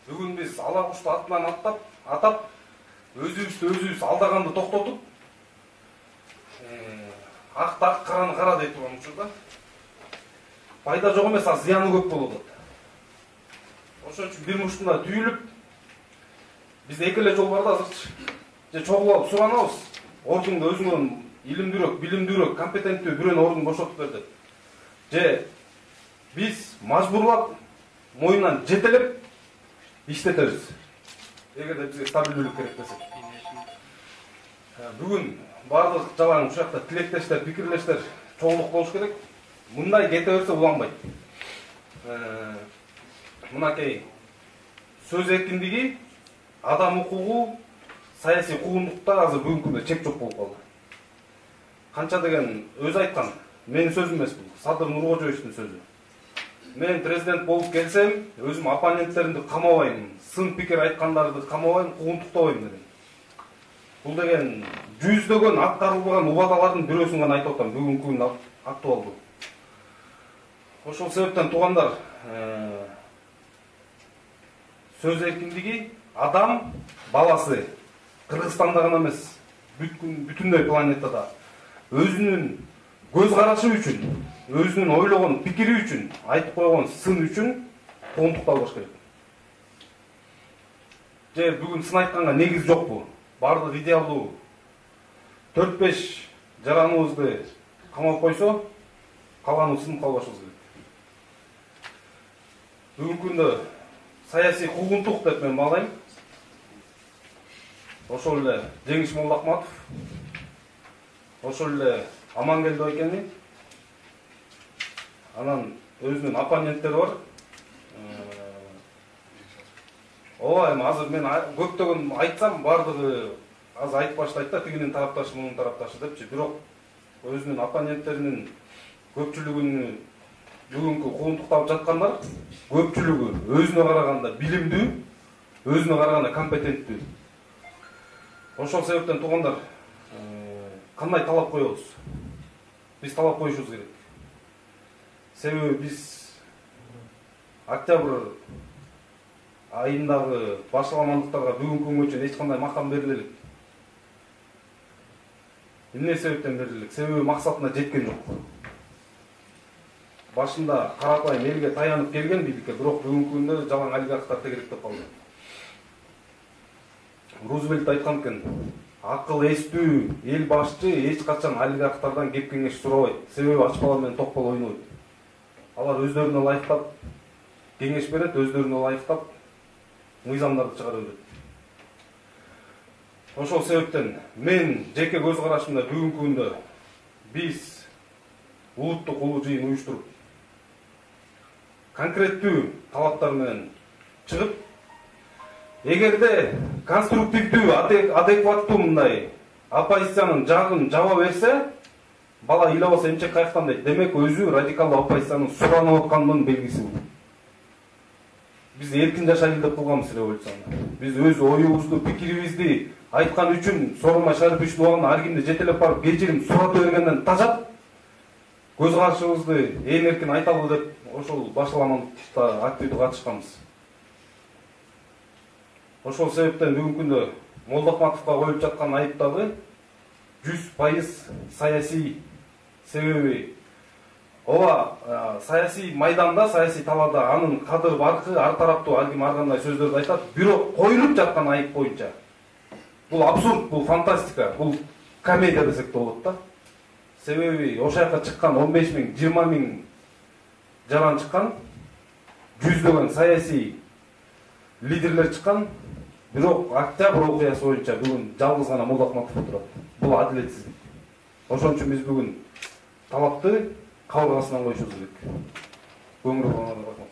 Бүгүн биз ала кушту атынан атап, өзүбүз алдаганды токтотуп, акты ак, караны кара деп турган учурда пайда жок эмес, а зыяны көп болуп атат. Ошон үчүн бир муштунда түйүлүп, биз эки эле жол бар да азырчы. Же чогулуп алып суранабыз, ордунда өзүңөн илимдүүрөөк, билимдүүрөөк, компетенттүү бирөөнү ордун бошотуп бер деп. Же биз мажбурлап, моюнан жетелеп иштетебиз. Эгерде бизге стабилдүүлүк керек десек. Бүгүн баардык жалаң ушакта тилектештер, пикирлештер чогулук болуш керек. Мындай кете берсе уланбайт. Мынакей сөз эркиндиги, адам укугу, саясий куугунлукта азыр бүгүнкү күндө чек жок болуп калды. Канча деген өзү айткан, менин сөзүм эмес бул, Садыр Нуркожоевичтин сөзү. Мен президент болуп келсем, өзүм оппоненттеримди камабайм, сын пикир айткандарды камабайм, куугунтуктабайм деген. Бул деген жүздөгөн аткарылбаган убадалардын бирөөсүн гана айтып атам, бүгүнкү күндө актуалдуу. Ошол себептен туугандар, сөз эркиндиги, адам баласы Кыргызстанда гана эмес, бүтүндөй планетада өзүнүн көз карашы үчүн, өзүнүн ойлогон пикири үчүн, айтып койгон сын үчүн куугунтукталбаш керек. Же бүгүн сын айтканга негиз жокпу? Бардык идеалдуу 4-5 жараныбызды камап койсо, калганы сынып калбашыбыз керек. Бүгүнкү күндө саясий куугунтук деп мен баалайм. Ошол эле Жеңиш Молдокматов, ошол эле Амангелди Ойкени, анан өзүнүн оппоненттери бар. Ооба, эми азыр мен көптөгөн айтсам, бардыгы азыр айтып баштайт да, тигинин тарапташы, мунун тарапташы депчи. Бирок өзүнүн оппоненттеринин көпчүлүгүнү бүгүнкү куугунтукталып жаткандар, көпчүлүгү өзүнө караганда билимдүү, өзүнө караганда компетенттүү. Ошол себептен туугандар, кандай талап коебуз? Биз талап коюшубуз керек. Себеби биз октябрь айындагы башаламандыктарга бүгүнкү күнгө чейин эч кандай макам бериле элек. Эмне себептен бериле элек? Себеби максатына жеткен жок. Башында карапайым элге таянып келген бийликке, бирок бүгүнкү күндө жалаң олигархтар тегеректеп калды. Рузвельт айткан экен, акыл эстүү эл башчы эч качан олигархтардан кеп кеңеш сурабайт. Себеби ач бала менен ток бала ойнойт. Алар өздөрүнө ылайыктап кеңеш берет, өздөрүнө ылайыктап мыйзамдарды чыгара берет. Ошол себептен мен жеке көз карашымда бүгүнкү күндө биз улуттук улуу жыйын уюштуруп конкреттүү талаптар менен чыгып, эгерде конструктивдүү, адекваттуу мындай оппозициянын жагын жаба берсе, бала ыйлабаса эмчек каяктан дейт. Демек өзү радикалдуу оппозициянын суранып атканынын белгиси бул. Биз эркин жашайлы деп кылганбыз революцияны. Биз өз оюбузду, пикирибизди айткан үчүн Сооронбай Шариповичтин убагында ар кимди жетелеп барып кечирим сурата бергенден тажап, көз карашыбызды ээн эркин айталы деп ошол башаламандыкта активдүү катышканбыз. Ошол себептен бүгүнкү күндө Молдокматовго коюлуп жаткан айыптагы 100% саясий. Себеби ооба, саясий майданда, саясий талаада анын кадыр баркы, ар тараптуу ар ким ар кандай сөздөрдү айтат, бирок коюлуп жаткан айып боюнча бул абсурд, бул фантастика, бул комедия десек да болот да. Себеби ошол жака чыккан 15 миң, 20 миң жаран чыккан, жүздөгөн саясий лидерлер чыккан, бирок октябрь окуясы боюнча бүгүн жалгыз гана Молдокматов отурат. Бул адилетсиздик. Ошон үчүн биз бүгүн талапты кабыргасынан коюшубуз керек. Көңүл бургандарга рахмат.